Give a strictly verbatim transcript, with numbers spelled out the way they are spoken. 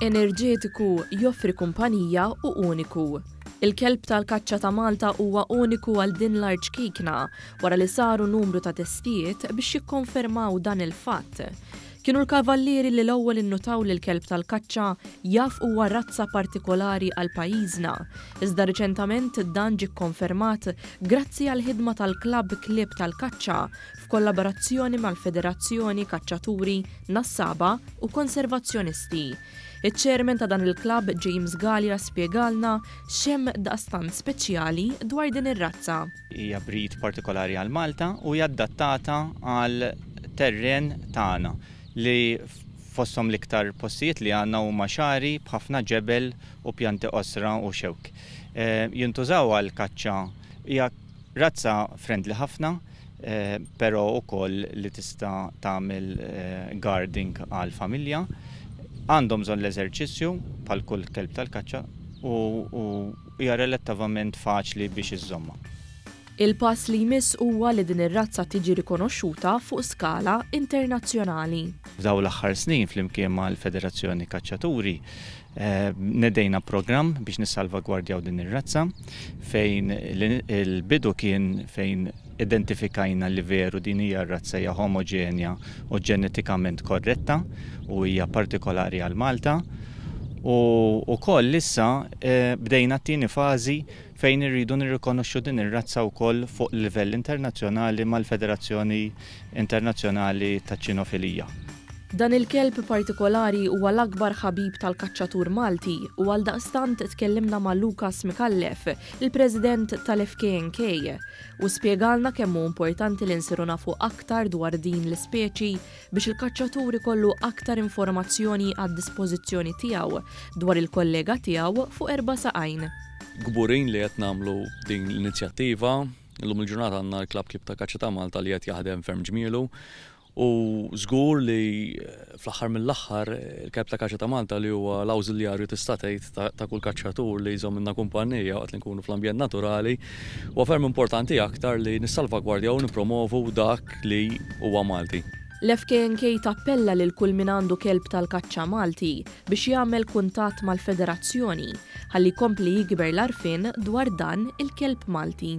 Enerġetiku, joffri kumpanija u uniku. Il-kelb tal-kaċċa ta' Malta huwa uniku għal din l-art ċkejkna wara li saru numru ta' testijiet biex jikkonfermaw dan il-fatt. Kienu l-kavallieri li l-ewwel innutaw li l-kelb tal-kaċċa jaf huwa razza partikolari għal pajjiżna. Iżda riċentament dan ġie kkonfermat grazzi għal ħidma tal-Klabb Klieb tal-Kaċċa f'kollaborazzjoni mal-Federazzjoni Kaċċaturi, Nassaba u Konservazzjonisti. Iċ-chairman ta' dan il-klabb, James Gallia, spjegalna x'hemm daqstant speċjali dwar din ir-razza. Hija breed partikolari għal Malta u hija adattata għal terren tagħna, li fosthom l-iktar postijiet li għandna huma xagħri b'ħafna ġebel u pjanti qosra u xewk. Eh, jintużaw għal kaċċa. Hija razza friendly ħafna, eh, però ukoll li tista' tagħmel eh, guarding għal familja. Għandhom bżonn l-eżerċizzju bħal kull kelb tal-kaċċa u hija relattivament faċli biex iżżommha. Il-pass li jmiss huwa li din ir-razza tiġi rikonoxxuta fuq skala internazzjonali. F'daw l-aħħar snin, flimkien mal-Federazzjoni Kaċċaturi, eh, nedejna programm biex nissalvagwardjaw din ir-razza, fejn il-bidu kien fejn identifikajna li veru din hija razza, hija homogenja u ġenetikament korretta u hija partikolari għal Malta. U wkoll issa eh, bdejna t-tieni fażi fejn irridu nirrikonoxxu din ir-razza wkoll fuq livell internazzjonali mal-Federazzjoni Internazzjonali taċ-Ċinofilija. Dan il-kelb partikolari huwa l-akbar ħabib tal-kaċċatur Malti u għal daqstant tkellimna ma' Lukas Mikallef, il-president tal-F K N K, u spjegalna kemm hu importanti li nsiru nafu aktar dwar din l-ispeċi biex il-kaċċatur ikollu aktar informazzjoni għad dispożizzjoni tiegħu dwar il-kollega tiegħu fuq erba' saqajn. Kburin li qed nagħmlu din l-inizjattiva. Illum il-ġurnata għandna l-Klabb Klieb ta' Kaċċa ta' Malta li qed jaħdem ferm ġmielu. U żgur li fl-aħħar mill-aħħar il-kelb ta' kaċċa ta' Malta, li huwa l-awżiljarju, tista' tgħid, ta' kull kaċċatur li jżommilna kumpanija waqt li nkunu fl-ambjent naturali, huwa ferm importanti aktar li nissalvagwardjaw u nippromovu dak li huwa Malti. L-F K N K tappella lil kull min għandu kelb tal-kaċċa Malti biex jagħmel kuntatt mal-federazzjoni ħalli jkompli jikber l-għarfien dwar dan il-kelb Malti.